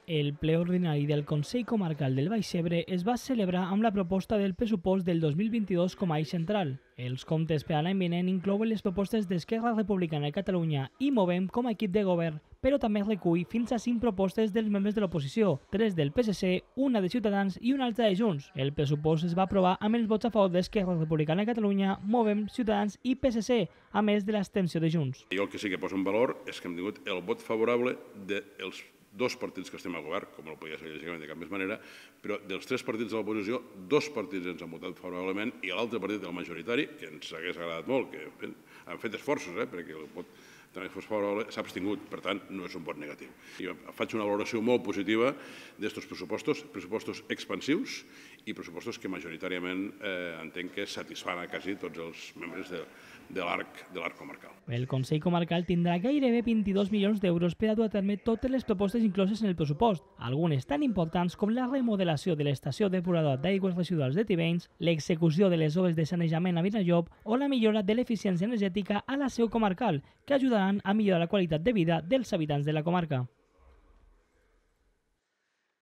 El ple ordinari del Consell Comarcal del Baix Ebre es va celebrar amb la proposta del pressupost del 2022 com a eix central. Els comptes per a l'any vinent inclouen les propostes d'Esquerra Republicana de Catalunya i Movem com a equip de govern, però també recull fins a 5 propostes dels membres de l'oposició, 3 del PSC, una de Ciutadans i una altra de Junts. El pressupost es va aprovar amb els vots a favor d'Esquerra Republicana de Catalunya, Movem, Ciutadans i PSC, a més de l'abstenció de Junts. Jo el que sí que poso en valor és que hem tingut el vot favorable dels dos partits que estem al govern, com no podia ser lògicament de cap més manera, però dels 3 partits de l'oposició, 2 partits ens han votat favorablement i l'altre partit, el majoritari, que ens hagués agradat molt, que han fet esforços perquè el vot també fos favorable, s'ha abstingut, per tant, no és un vot negatiu. Jo faig una valoració molt positiva d'estos pressupostos expansius i pressupostos que majoritàriament entenc que satisfan a quasi tots els membres de l'arc comarcal. El Consell Comarcal tindrà gairebé 22 milions d'euros per a dur a terme totes les propostes incloses en el pressupost, algunes tan importants com la remodelació de l'estació depuradora d'aigües residuals de Tivenys, l'execució de les obres de sanejament a Vinallop o la millora de l'eficiència energètica a la seu comarcal, que ajudaran a millorar la qualitat de vida dels habitants de la comarca.